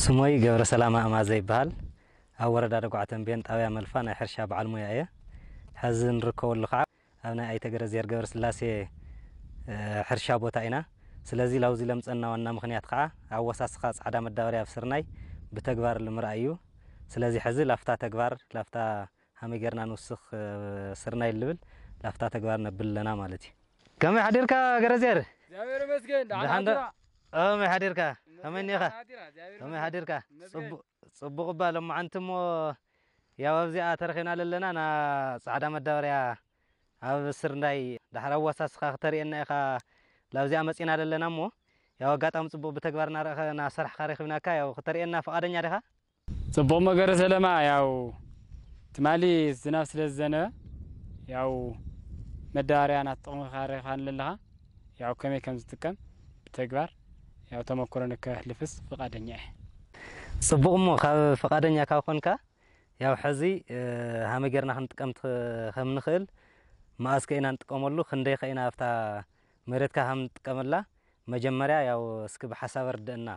ስሞይ ገብረ ሰላማ ኣማዘ ይበሃል። ኣብ ወረዳ ደጉዓ ተንቤን ጣብያ መልፋ ናይ ሕርሻ በዓል ሞያ እየ። ሕዚ ንርከበሉ ከዓ ኣብ ናይ ኣይተ ገረዝሔር ገብረስላሴ፣ እ፣ ሕርሻ ቦታ ኢና። ስለዚ ላብዚ ለምፀና ዋና ምኽንያት ከዓ ኣወሳስኻ ፃዕዳ መዳበርያ ኣብ ስርናይ ብተግባር ልምርኣይ እዩ። ስለዚ ሕዚ ላፍታ ተግባር፣ ላፍታ ሃመይ ጌርና ንውስኽ፣ እ፣ ስርናይ ልብል ላፍታ ተግባር ነብል ኣለና ማለት እዩ። ከመይ ሓዲርካ ገረዝሔር? እግዚኣብሔር ይመስገን። ደሓን ደሓን ዶ? ሓዲራ። ከመይ ሓዲርካ? ከመይ እኒኻ? ደሓን ሓዲራ፣ እግዚኣብሔር ከመይ ይመስገን። ሓዲርካ? ይመስገን። ጽቡ-፣ ጽቡቕ እባ። ሎማዓንቲ እሞ ያው ኣብዚኣ ተረኺብና ለለና ና ጻዕዳ መዳበርያ ኣብ ስርናይ ዳሕር ኣዋሳስኻ ክተርእየና ኢኻ። ላብዚኣ መጺና ለለና እሞ ያው ኣጋጣሚ ጽቡቕ ብተግባር እናረኸ-፣ እናሰርሕካ ረኺብናካ። ያው ክተርእየና ፍቓደኛ ዲኻ? ጽቡቕ መገረ ሰለማ፣ ያው ትማሊ ዝናብ ስለ ዝዘነበ ያው መዳበርያ እናተጠቕምካ ረኺብካኒ ኣለኻ። ያው ከመይ ከም ዝጥቀም ብተግባር ያው ተመክሮ ንከሕልፍስ ፍቓደኛ እየ። ጽቡቕ እሞ ካብ ፍቓደኛ ካብ ኮንካ ያው ሕዚ፣ እ፣ ሃመይ ጌርና ክንጥቀም ትኽ-፣ ከም ንኽእል መኣዝ ከ ኢና ንጥቀመሉ፣ ክንደይ ከ ኢና ኣብታ መሬትካ ከም ንጥቀመላ መጀመርያ ያው እስኪ ብሓሳብ ኣርድእና።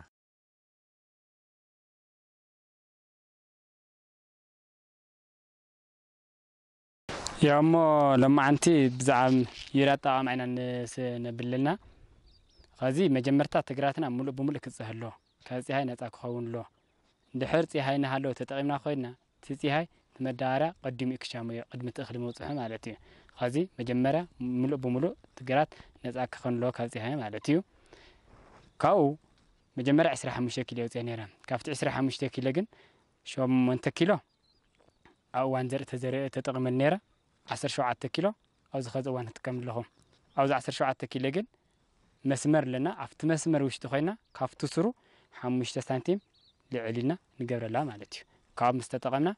ያው እሞ ሎማዓንቲ ብዛዕባ ዩርያ ኣጠቓቕማ ኢና ንስ-፣ ነብለልና። ኸዚ መጀመርታ ትግራትና ሙሉእ ብሙሉእ ክፀህ ኣሎ፣ ካብ ፀሃይ ነፃ ክኸውን ኣሎ። እንድሕር ፀሃይ እናሃለወ ተጠቒምና ኮይንና፣ እቲ ፀሃይ እቲ መዳበርያ ቀዲሙ እዩ ክሻመዮ፣ ቅድሚ እቲ እኽሊ ምብፅሑ ማለት እዩ። ኸዚ መጀመርያ ሙሉእ ብሙሉእ ትግራት ነፃ ክኸውን ኣሎ ካብ ፀሃይ ማለት እዩ። ካብኡ መጀመርያ ዕስራ ሓሙሽተ ኪሎ የውፅአ ነይረ። ካብቲ ዕስራ ሓሙሽተ ኪሎ ግን ሸሞንተ ኪሎ ኣብ እዋን ዘርኢ ተዘሪኡ ተጠቒመሉ ነይረ። ዓሰርተ ሸውዓተ ኪሎ ኣብዚ ኸዚ እዋን ክጥቀም ኣለኹ። ኣብዚ ዓሰርተ ሸውዓተ ኪሎ ግን መስመር ኣለና። ኣብቲ መስመር ውሽጢ ኮይና ካብቲ ስሩ ሓሙሽተ ሳንቲም ልዕል ኢልና ንገብረላ ማለት እዩ። ካብኡ ምስ ተጠቐምና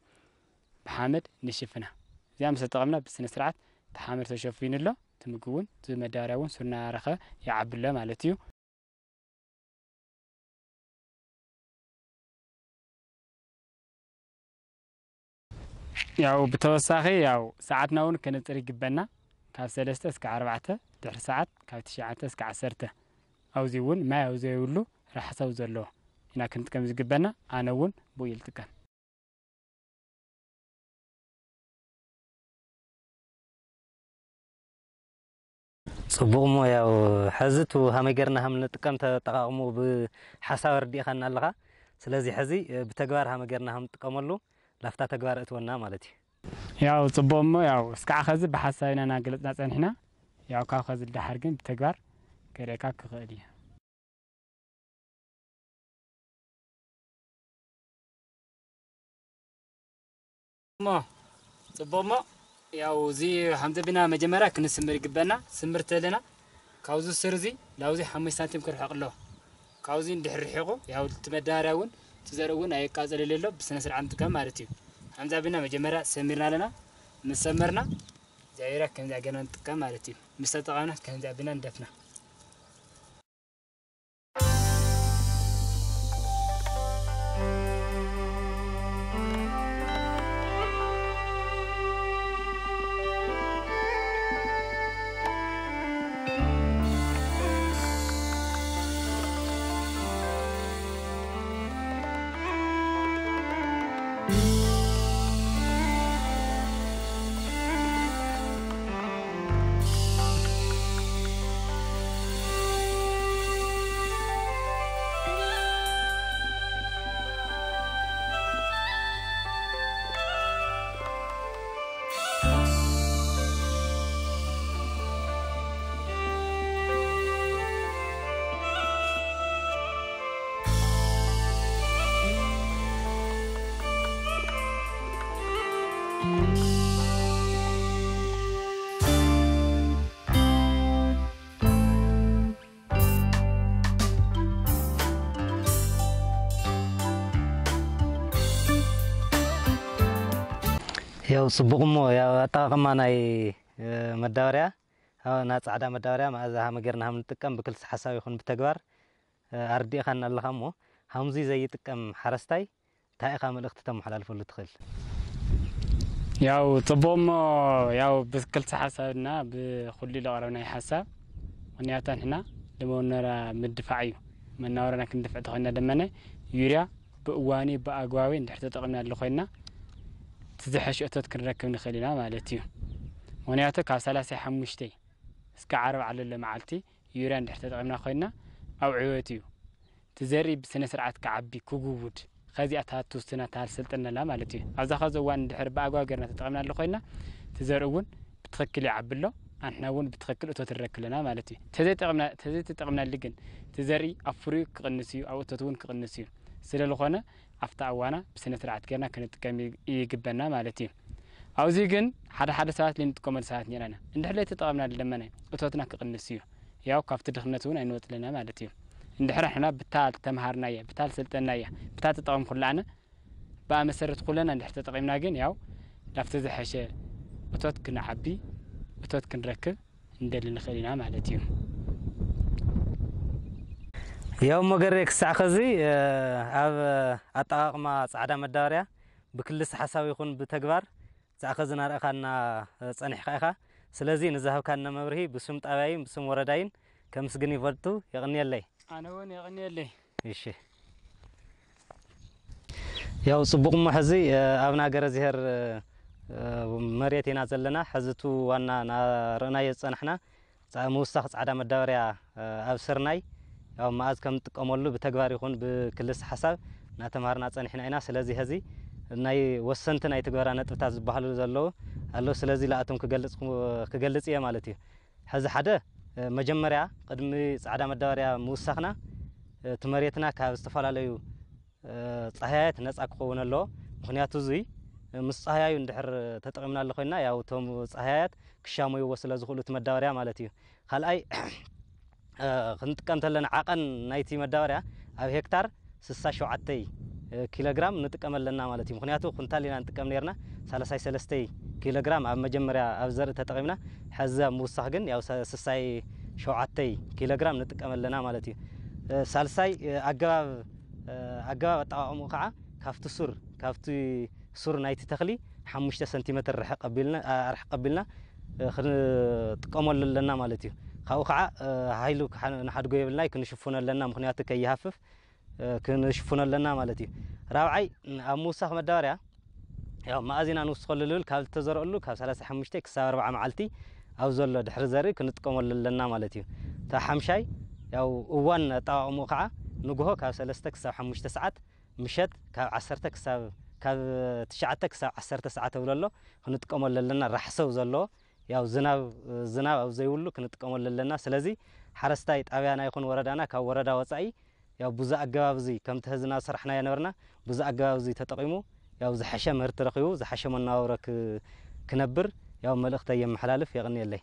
ብሓመድ ንሽፍና። እዚኣ ምስ ተጠቐምና ብስነ ስርዓት እቲ ሓመድ ተሸፊኑ ኣሎ። እቲ ምግቢ እውን እቲ መዳበርያ እውን ስሩ እናረኸ ይዓቢ ኣሎ ማለት እዩ። ያው ብተወሳኺ ያው ሰዓትና እውን ከነፅር ይግበና። ካብ ሰለስተ እስከ ኣርባዕተ፣ ድሕሪ ሰዓት ካብ ትሽዓተ እስከ ዓሰርተ። ኣብዚ እውን ማይ ኣብ ዘይብሉ ራሕሳው ዘለዎ ኢና ክንጥቀም ዝግበና። ኣነ እውን ብኡ ይልጥቀም። ጽቡቕ እሞ ያው ሕዚ ቱ ሃመይ ጌርና ሃም ንጥቀም ተጠቓቕሙ ብሓሳብ ኣርዲእኻና ኣለኻ። ስለዚ ሕዚ፣ እ፣ ብተግባር ሃመይ ጌርና ሃም ንጥቀመሉ ላፍታ ተግባር እትወና ማለት እዩ። ያው ጽቡቕ እሞ ያው እስካዕ ኸዚ ብሓሳብ ኢና እናገለጽና ጸኒሕና። ያው ካብ ኸዚ ልደሓር ግን ብተግባር ከርእየካ ክኽእል እየ። እሞ ጽቡቕ እሞ ያው እዚ ሓምዘ ቢና መጀመርያ ክንስምር ይግበና። ስምር ተለና ካብዚ ስር እዚ ላውዚ ሓሙሽተ ሳንቲም ክርሕቕ ኣሎ። ካብዚ እንድሕር ርሒቑ ያው እቲ መዳበርያ እውን እቲ ዘርኢ እውን ኣየቃጸለለ ኣሎ ብስነ ስርዓት ንጥቀም ማለት እዩ። ሓምዛ ቢና መጀመርያ ሰሚርና ኣለና። ምስ ሰመርና እግዚኣብሔር ከምዚኣ ጌርና ንጥቀም ማለት እዩ። ምስ ተጠቐምና ከምዚኣ ቢና ንደፍና። ያው ጽቡቕ እሞ ያው ኣጠቓቕማ ናይ፣ እ፣ መዳበርያ፣ እ፣ ናይ ጻዕዳ መዳበርያ መኣዛ ሃመ ጌርና ሃም ንጥቀም ብክልሲ ሓሳብ ይኹን ብተግባር፣ እ፣ ኣርዲእኻና ኣለኻ እሞ ሃምዚ ዘይጥቀም ሓረስታይ እንታይ ኢኻ መልእኽቲ ተመሓላልፈሉ ትኽእል? ያው ጽቡቕ እሞ ያው ብክልሲ ሓሳብና ብኹሉ ለቕረብናይ ሓሳብ ምኽንያቱ ንሕና ለመውነራ ምድፋዕ እዩ። መናወረና ክንድፍዕ ተኾይና ደመነ ዩርያ ብእዋኑ ብኣግባቡ እንድሕር ተጠቒምናሉ ኮይና፣ እቲ ዝሐሸ እቶት ክንረክብ ንኽእል ኢና ማለት እዩ። ምኽንያቱ ካብ ሰላሳ ሓሙሽተ እስከ ዓርብ ዓለሎ መዓልቲ ዩርያ እንድሕር ተጠቒምና ኮይና፣ ኣብ ዕወት እዩ። እቲ ዘርኢ ብስነ ስርዓት ክዓቢ፣ ክጉውድ፣ ከዚኣ ትሃቱ ስና ትሃልሰልጠነላ ማለት እዩ። ኣብዛ ኸዚ እዋን እንድሕር ብኣግባቡ ጌርና ተጠቒምናሉ ኮይና፣ እቲ ዘርኢ እውን ብትኽክል ይዓቢ ኣሎ፣ ኣንሕና እውን ብትኽክል እቶት ንረክብ ኣለና ማለት እዩ። ተዘይጠቕምና-፣ ተዘይተጠቕምናሉ ግን፣ እቲ ዘርኢ ኣብ ፍሪኡ ክቕንስ እዩ፣ ኣብ እቶት እውን ክቕንስ እዩ። ስለ ዝኾነ፣ ኣብታ እዋና ብስነ ስርዓት ጌርና ክንጥቀም ይ-፣ ይግበና ማለት እዩ። ኣብዚ ግን ሓደ ሓደ ሰባት ለይንጥቀመሉ ሰባት ኔርና። እንድሕር ለይተጠቐምናሉ ደመነ እቶትና ክቕንስ እዩ። ያው ካብቲ ድኽነት እውን ኣይንወጽእ ኣለና ማለት እዩ። እንድሕር ንሕና ብታ ተምሃርናያ፣ ብታ ዝሰልጠናያ፣ ብታ ተጠቐምኩላ ኣነ፣ ብኣ መሰረት ኩለና እንድሕር ተጠቒምና ግን ያው ላብቲ ዝሐሸ እቶት ክንዓቢ፣ እቶት ክንረክብ እንደሊ ንኽእል ኢና ማለት እዩ። ያው መገሬ ክሳዕ ኸዚ፣ እ፣ ኣብ ኣጠቓቕማ ጻዕዳ መዳበርያ ብክልስ ሓሳብ ይኹን ብተግባር ክሳዕ ኸዚ ናርኣኻና፣ እ፣ ጸኒሕካ ኢኻ። ስለዚ ንዝሃብካና መብርሂ ብስም ጣብያይን ብስም ወረዳይን ከምስግን ይፈቱ። የቕንየለይ። ኣነ እውን የቕንየለይ። እሺ። ያው ጽቡቕ እሞ ሕዚ፣ እ፣ ኣብ ናገረ ዚሄር፣ እ፣ መሬት ኢና ዘለና። ሕዚ እቲ ዋና ናርኣናዮ ዝጸናሕና ጻ-፣ ምውሳኽ ጻዕዳ መዳበርያ፣ እ፣ ኣብ ስርናይ ያው መኣዝ ከም ንጥቀመሉ ብተግባር ይኹን ብክልስ ሓሳብ እናተምሃርና ጸኒሕና ኢና። ስለዚ ሕዚ ናይ ወሰንቲ ናይ ትግበራ ነጥብታት ዝበሃሉ ዘለዉ ኣለዉ። ስለዚ ለኣቶም ክገልጽ፣ ክገልጽ እየ ማለት እዩ። ሕዚ ሓደ፣ እ፣ መጀመርያ ቅድሚ ጻዕዳ መዳበርያ ምውሳኽና፣ እ፣ እቲ መሬትና ካብ ዝተፈላለዩ፣ እ፣ ጻህያያት ነጻ ክኸውን ኣለዎ። ምኽንያቱ እዙይ፣ እ፣ ምስ ጻህያዩ እንድሕር ተጠቒምናሉ ኮይና፣ ያው እቶም ጻህያያት ክሻመይዎ ስለ ዝኽእሉ እቲ መዳበርያ ማለት እዩ። ካልኣይ፣ እ፣ ክንጥቀም ተለና ዓቐን ናይቲ መዳበርያ ኣብ ሄክታር ስሳ ሸውዓተ ኪሎ ግራም ንጥቀም ኣለና ማለት እዩ። ምኽንያቱ ኩንታል ኢና ንጥቀም ነርና፣ ሰላሳ ሰለስተ ኪሎ ግራም ኣብ መጀመርያ ኣብ ዘርኢ ተጠቒምና፣ ሕዚ ኣብ ምውሳኽ ግን ያው ሰ-፣ ስሳ ሸውዓተ ኪሎ ግራም ንጥቀም ኣለና ማለት እዩ። እ፣ ሳልሳይ፣ እ፣ ኣገባብ፣ እ፣ ኣገባብ ኣጠቓቕምኡ ከዓ ካብቲ ሱር፣ ካብቲ ሱር ናይቲ ተኽሊ ሓሙሽተ ሰንቲሜትር ርሕቕ ኣቢልና፣ ኣ-፣ ርሕቕ ኣቢልና፣ እ፣ ክንጥቀመሉ ኣለና ማለት እዩ። ካብኡ ከዓ፣ እ፣ ሃይሉ ክሓ-፣ ንሓድጎ የብልናይ፣ ክንሽፍኖ ኣለና፣ ምኽንያቱ ከይሃፍፍ፣ እ፣ ክንሽፍኖ ኣለና ማለት እዩ። ራብዓይ፣ ኣብ ምውሳኽ መዳበርያ፣ ያው መኣዝ ኢና ንውስኸሉ ልብል፣ ካብ ዝተዘርአሉ ካብ ሰላሳ ሓሙሽተ ክሳብ ኣርብዓ መዓልቲ ኣብ ዘሎ ድሕሪ ዘርኢ ክንጥቀመሉ ኣለና ማለት እዩ። እታ ሓምሻይ፣ ያው እዋን ኣጠቓቕምኡ ከዓ ንግሆ ካብ ሰለስተ ክሳብ ሓሙሽተ ሰዓት፣ ምሸት ካብ ዓሰርተ ክሳብ፣ ካብ ትሽዓተ ክሳብ ዓሰርተ ሰዓት ተብሎ ኣሎ፣ ክንጥቀመሉ ኣለና። ራሕሰው ዘሎ፣ ያው ዝናብ፣ ዝናብ ኣብ ዘይብሉ ክንጥቀመሉ ኣለና። ስለዚ ሓረስታይ ጣብያና ይኹን ወረዳና ካብ ወረዳ ወጻኢ ያው ብዙ ኣገባብ እዚ ከምቲ ሕዚ እናሰራሕናዮ ነበርና፣ ብዙ ኣገባብ እዚ ተጠቒሙ ያው ዝሐሸ ምህርቲ ረኺቡ ዝሐሸ መነባብሮ ክ-፣ ክነብር ያው መልእኽተይ የመሓላልፍ። የቕንየለይ።